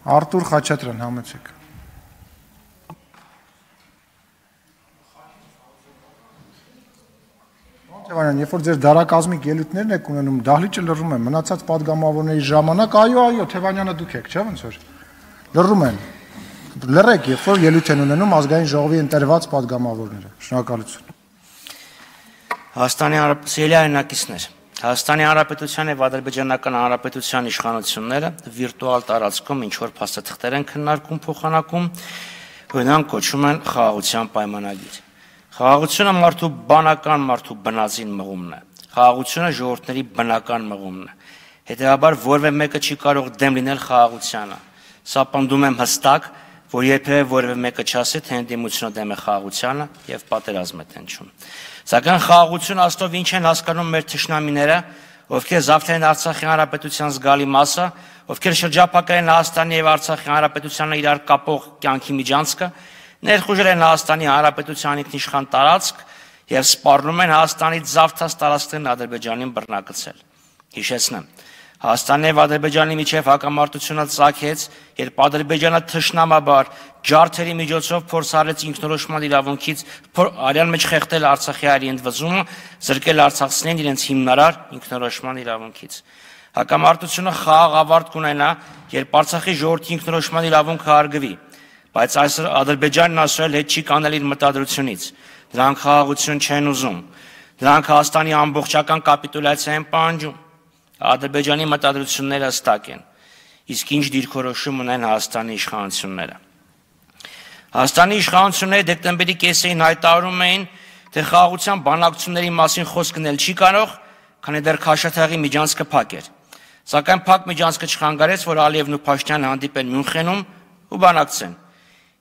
Արտուր Խաչատրյան, համեցեք։ Տևանյան, երբ որ ձեր դարակազմիկ ելույթներն եք ունենում, դահլիճը լռում է, մնացած падգամավորների ժամանակ, այո, Թևանյանը դուք եք, չէ՞ ոնց որ։ Լռում են։ Լռեք, երբ որ ելույթ են ունենում ազգային ժողովի ընտրված падգամավորները։ Շնորհակալություն։ Հայաստանի Հանրապետության հայրենակիցներ, Հայաստանի Հանրապետության եւ Ադրբեջանական Հանրապետության իշխանությունները վիրտուալ տարածքում ինչ որ փաստաթղթեր են քննարկում, փոխանակում, որոնք կոչվում են խաղաղության պայմանագիր։ Խաղաղությունը մարդու բանական մարդու բնածին մղումն է։ Խաղաղությունը ժողովուրդների բնական մղումն է։ Հետևաբար որևէ մեկը չի կարող դեմ լինել խաղաղությանը։ Սա պնդում եմ հստակ, որ երբևէ որևէ մեկը չասի, թե ընդդիմությունը դեմ է խաղաղությանը եւ պատերազմ է տենչում։ Սակայն խաղաղությունը աստով ինչ են հասկանում մեր թշնամիները, ովքեր զավթել են Արցախի Հանրապետության զգալի մասը, ովքեր շրջափակել են Հայաստանի եւ Արցախի Հանրապետությանը իրար կապող կյանքի միջանցքը, ներխուժել են Հայաստանի Հանրապետության ինքնիշխան տարածք եւ սպառնում են Հայաստանից զավթած տարածքներն Ադրբեջանին բռնակցել։ Հիշեցնեմ, Հայաստանի եւ Ադրբեջանի միջև հակամարտությունը ծագեց, երբ Ադրբեջանը թշնամաբար ջարդերի միջոցով փորձարեց ինքնորոշման իրավունքից արյան մեջ խեղդել Արցախի հայերի ընդվզումը, զրկել արցախցիներին իրենց հիմնարար ինքնորոշման իրավունքից։ Հակամարտությունը խաղաղ ավարտ կունենա, երբ Արցախի ժողովրդի ինքնորոշման իրավունքը հարգվի, բայց այսօր Ադրբեջանն ասել հետ չի կանել իր մտադրությունից։ Դրանք խաղաղություն չեն ուզում։ Դրանք Հայաստանի ամբողջական կապիտուլյացիա են պահանջում։ Ադրբեջանի մտադրությունները հստակ են, իսկ ինչ դիրքորոշում ունեն Հայաստանի իշխանությունները։ Հայաստանի իշխանությունները դեկտեմբերի կեսերին հայտարարում էին, թե խաղաղության բանակցությունների մասին խոսք գնել չի կարող, քանի դեռ Քաշաթաղի միջանցքը փակ էր։ Սակայն փակ միջանցքը չխանգարեց, որ Ալիևն ու Փաշինյանը հանդիպեն Մյունխենում ու բանակցեն։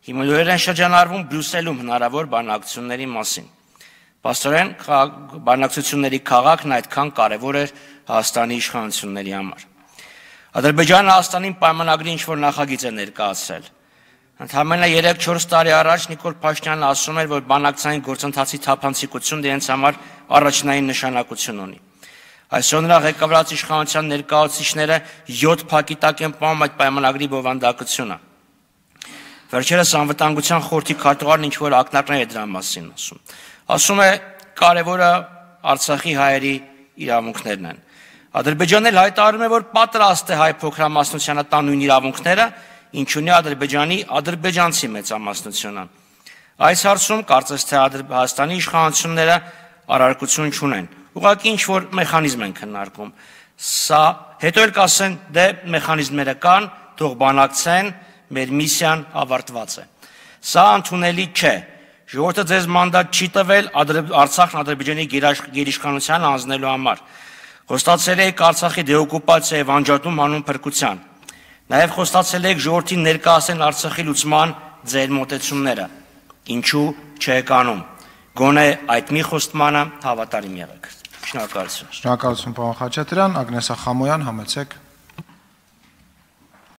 Հիմա լուրեր են շրջանառվում Բրյուսելում հնարավոր բանակցությունների մասին։ Պաստորեն բանակցությունների քաղաքն այդքան կարևոր էր Հայաստանի իշխանությունների համար։ Ադրբեջանը Հայաստանին պայմանագրի ինչ-որ նախագիծ է ներկայացրել։ Ընդամենը 3-4 տարի առաջ Նիկոլ Փաշինյանը ասում էր, որ բանակցային գործընթացի թափանցիկությունն իրենց համար առաջնային նշանակություն ունի։ Այսօր նրա ղեկավարած իշխանության ներկայացուցիչները 7 փակի տակ են պահում այդ պայմանագրի բովանդակությունը։ Վերջերս անվտանգության խորհրդի քարտուղարն ինչ-որ ակնարկներ է դրա մասին ասում։ Ասում է, կարևորը Արցախի հայերի իրավունքներն են։ Ադրբեջանն էլ հայտարարում է, որ պատրաստ է հայ փոքրամասնությանը տան նույն իրավունքները, ինչ ունի Ադրբեջանի ադրբեջանցի մեծամասնությունը։ Այս հարցում կարծես թե Հայաստանի իշխանությունները առարկություն չունեն։ Ուղղակի ինչ-որ մեխանիզմ են քննարկում։ Սա հետո էլ կասեն, դե մեխանիզմները կան, թող բանակցեն, մեր միսիան ավարտված է։ Սա ընդունելի չէ։ Ժողովուրդը ձեզ մանդատ չի տվել Արցախն Ադրբեջանի գերիշխանության հանձնելու համար։ Խոստացել եք Արցախի դեօկուպացիա եւ անջատում անուն փրկության։ Նաեւ խոստացել եք ժողովրդին ներկայացնել Արցախի լուծման ձեր մոտեցումները։ Ինչու չեք անում։ Գոնե այդ մի խոստմանը հավատարիմ եղեք։ Շնորհակալություն։ Շնորհակալություն, պարոն Խաչատրյան, Ագնեսա Խամոյան, համեցեք։